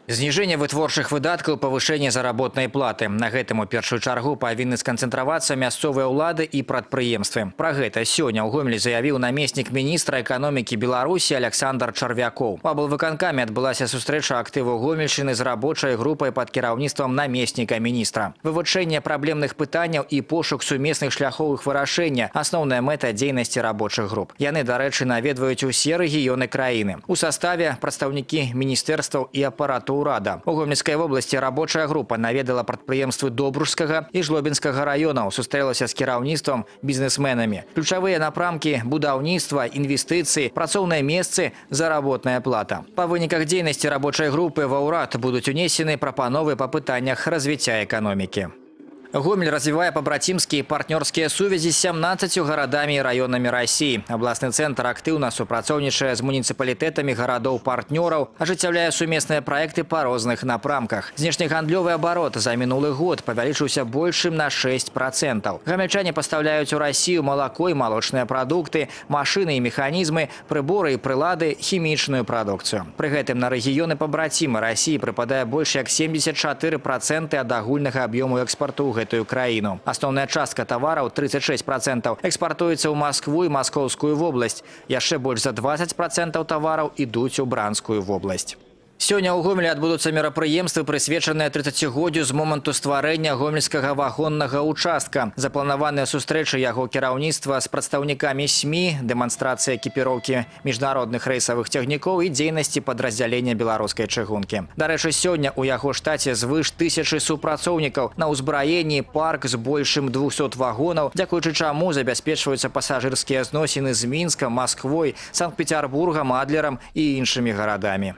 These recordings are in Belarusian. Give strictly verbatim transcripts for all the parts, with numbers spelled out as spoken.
Зніжэнне вытворчых выдаткаў, павышэнне заработнай платы. На гэтым у першую чаргу павінны сканцэнтравацца мясцовыя ўлады і прадпрыемствы. Пра гэта сёння ў Гомелі заявіў намеснік міністра эканомікі Беларусі Александр Чарвякоў. У аблвыканкаме адбылася сустрэча актыву Гомельшчыны з рабочай групай пад кіраўніцтвам намесніка міністра. Вывучэнне праблемных пытанняў і пошук сумесных шляхоў іх вырашэння – асноўная мэта дзейнасці рабочых груп. Яны, дарэчы, наведваюць усе рэгіёны краіны. У саставе прадстаўнікі міністэрстваў і апарату ўрада. У Гомельскай вобласці рабочая група наведала прадпрыемствы Добружскага і Жлобінскага раёнаў, сустрэлася з кіраўніцтвам, бізнесменамі. Ключавыя напрамкі – будаўніцтва, інвестыцыі, працоўныя месцы, заработная плата. Па выніках дзейнасці рабочай групы ва ўрад будуць унесены прапановы па пытаннях развіцця эканомікі. Гомель развивае побратимские партнерские сувязі з сямнаццаццю гарадамі і раёнамі России. Областный центр актыўна супрацоўнічае з муніцыпалітэтамі гарадоў-партнёраў, ажыццяўляе сумесныя проекты по розных напрамках. Знешнегандлёвы оборот за мінулы год павялічыўся большым на шесть процентов. Гамельчане поставляюць у Россию молоко и молочные продукты, машины и механизмы, приборы и прилады, хімічную прадукцыю. Пры гэтым на рэгіёны побратимы России прыпадае больш як семьдесят четыре процента ад агульнага аб'ёму экспарту ў гэтую краіну. Асноўная частка тавараў тридцать шесть процентов экспартуецца ў Москву і Маскоўскую вобласць. Яшчэ больш за двадцать процентов тавараў ідуць у Бранскую вобласць. Сёння ў Гомелі адбудуцца мерапрыемствы, прысвечаныя тридцацігоддзю з моманту стварэння гомельскага вагоннага участка. Запланаваныя сустрэчы яго кіраўніцтва з прадстаўнікамі СМІ, дэманстрацыя экіпіроўкі міжнародных рэйсавых цягнікоў і дзейнасці падраздзялення беларускай чыгункі. Дарэчы, сёння ў яго штаце звыш тысячы супрацоўнікаў. На ўзбраенні парк з большым двухсот вагонаў, дзякуючы чаму забяспечваюцца пасажырскія зносіны з Мінскам, Масквой, Санкт-Петербургам, Адлерам і іншымі гарадамі.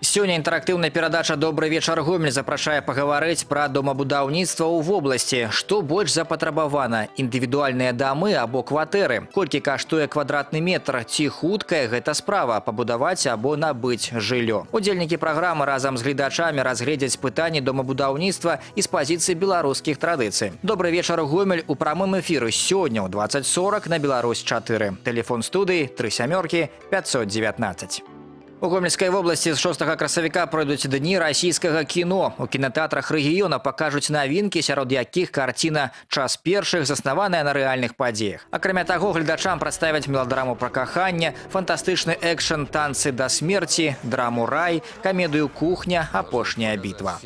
Сёння інтэрактыўная перадача «Добрый вечар, Гомель» запрашае пагаварыць пра домабудаўніцтва ў вобласці. Што больш запатрабавана – індывідуальныя дамы або кватэры? Колькі каштуе квадратны метр? Ці хуткая гэта справа – пабудаваць або набыць жыллё? Удзельнікі праграмы разам з гледачамі разгледзяць пытанні домабудаўніцтва і з пазіцыі беларускіх традыцый. «Добрый вечар, Гомель» у прамым эфіры сёння ў двадцать сорок на Беларусь чатыры. Телефон студыі тры сямёркі пятьсот девятнадцать. У Гомельскай вобласці з шостага красавіка пройдуць дні расійскага кіно. У кінотэатрах рэгіёна пакажуць навінкі, сярод якіх карціна «Час першых» заснаваная на рэальных падзеях. Акрамя таго, гледачам прадставяць меладраму пра каханне, фантастычны экшн «Танцы да смерці», драму «Рай», камедыю «Кухня. Апошняя бітва».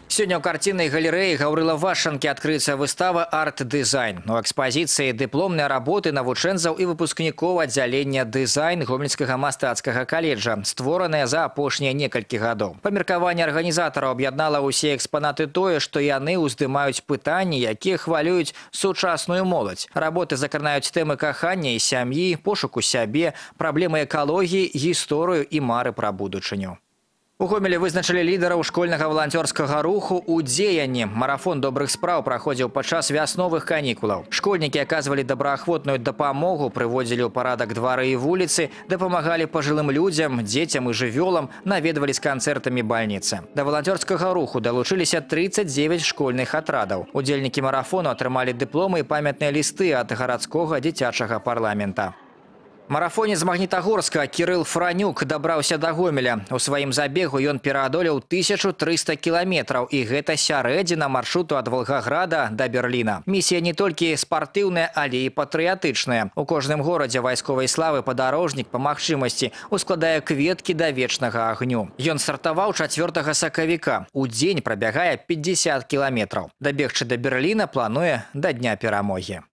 Сёння ў карціннай галерэі Гаўрыла Вашанкі адкрыецца выстава «Арт-дызайн». У экспазіцыі дыпломныя работы навучэнцаў і выпускнікоў аддзялення «Дызайн» Гомельскага мастацкага каледжа, створаныя за апошнія некалькі гадоў. Па меркаванні арганізатараў аб'яднала ўсе экспанаты тое, што яны ўздымаюць пытанні, якія хвалююць сучасную моладзь. Работы закранаюць тэмы кахання і сям'і, пошуку сябе, праблемы экалогіі, гісторыю і мары пра будучыню. У Гомелі вызначылі лідараў школьнага валанцёрскага руху ў дзеянні. Марафон добрых спраў праходзіў падчас вясновых канікулаў. Школьнікі аказвалі добраахвотную дапамогу, прыводзілі ў парадак двары і вуліцы, дапамагалі пажылым людзям, дзецям і жывёлам, наведвалі з канцэртамі бальніцы. Да валанцёрскага руху далучыліся тридцать девять школьных атрадаў. Удзельнікі марафону атрымалі дыпломы і памятныя лісты ад гарадскога дзіцячага парламента. Марафонец з Магнітагорска Кірыл Франюк дабраўся да Гомеля. У сваім забегу ён пераадолеў тысячу трыста кіламетраў, і гэта сярэдзіна маршруту ад Волгаграда да Берліна. Місія не толькі спартыўная, але і патрыятычная. У кожным горадзе вайсковай славы падарожнік па магчымасці ускладае кветкі да вечнага агню. Ён стартаваў чацвёртага сакавіка. У дзень прабягае пятьдесят кіламетраў. Дабегчы да Берліна плануе да дня перамогі.